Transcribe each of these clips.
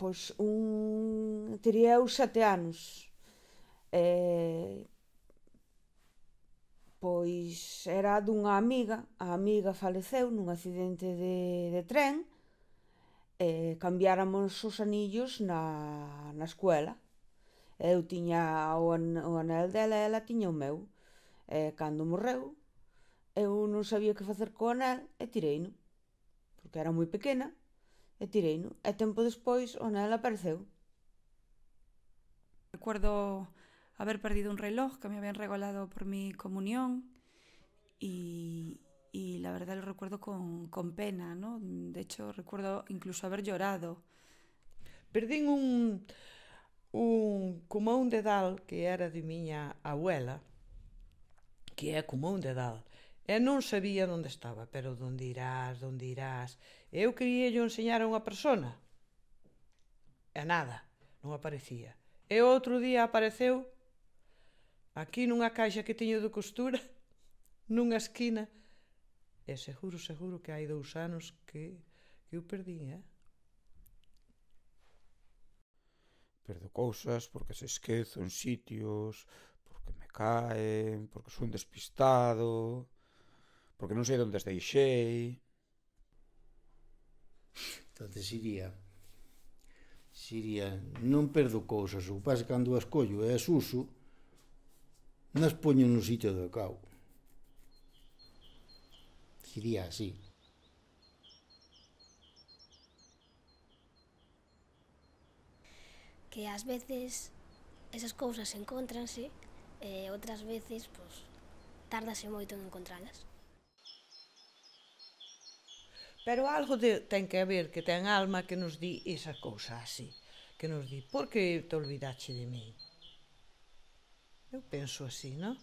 Pois teria eu 7 anos. Pois era dunha amiga. A amiga faleceu nun accidente de tren e cambiáramos os anillos na escuela. Eu tiña o anel dela e ela tiña o meu. Cando morreu, eu non sabía que facer co anel e tireino, porque era moi pequena, e tireino. E tempo despois o anel apareceu. Recuerdo haber perdido un reloj que me habían regalado por mi comunión y la verdad lo recuerdo con pena, ¿no? De hecho, recuerdo incluso haber llorado. Perdín como un dedal que era de miña abuela, que é como un dedal, e non sabía onde estaba, pero onde irás. Eu quería yo enseñar a unha persona, e nada, non aparecía. E outro día apareceu aquí nunha caixa que tiño de costura, nunha esquina, e seguro que hai 2 anos que eu perdín, Perdo cousas porque se esquezo en sitios, porque me caen, porque son despistado, porque non sei onde as deixei. Entonces Siria, non perdo cousas, o que pasa cando as collo e as uso, nas poño no sitio adecuado. Siria así. Que ás veces esas cousas encontranse e outras veces, pois, tárdase moito en encontralas. Pero algo ten que haber, que ten alma que nos di esa cousa así, que nos di, por que te olvidache de mí? Eu penso así, non?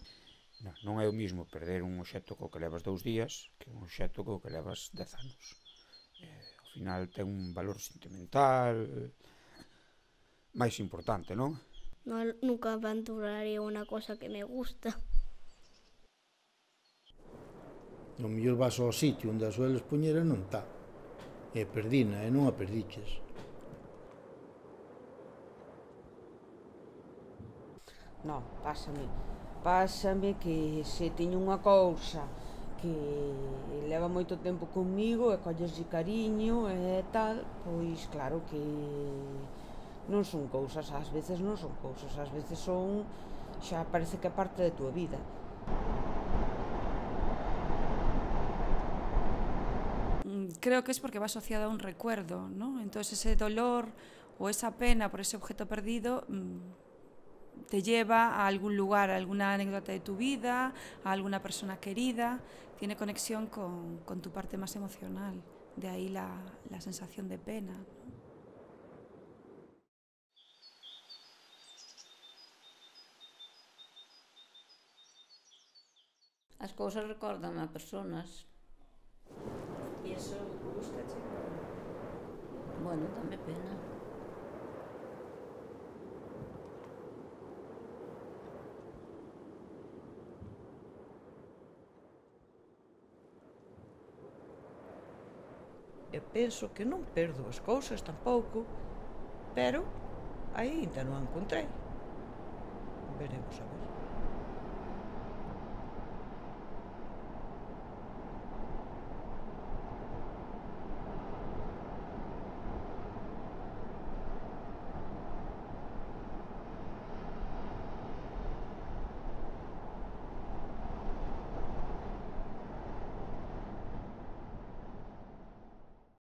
Non é o mismo perder un obxecto co que levas 2 días que un obxecto co que levas 10 anos. Ao final ten un valor sentimental máis importante, non? Nunca abandonaré unha cosa que me gusta. O mellor vas ao sitio onde a sueles poñer e non está. E perdina, e non a perdiches. Non, pásame que se teño unha cousa que leva moito tempo comigo e colleslle cariño e tal, pois claro que non son cousas, ás veces non son cousas, ás veces son, xa parece que é parte da túa vida. Creo que es porque va asociado a un recuerdo, ¿no? Entonces ese dolor o esa pena por ese objeto perdido te lleva a algún lugar, a alguna anécdota de tu vida, a alguna persona querida, tiene conexión con tu parte más emocional, de ahí la sensación de pena, ¿no? As cousas recordan a personas. E iso gústache? Bueno, dame pena. Eu penso que non perdo as cousas tampouco, pero aínda non a encontrei. Veremos a ver.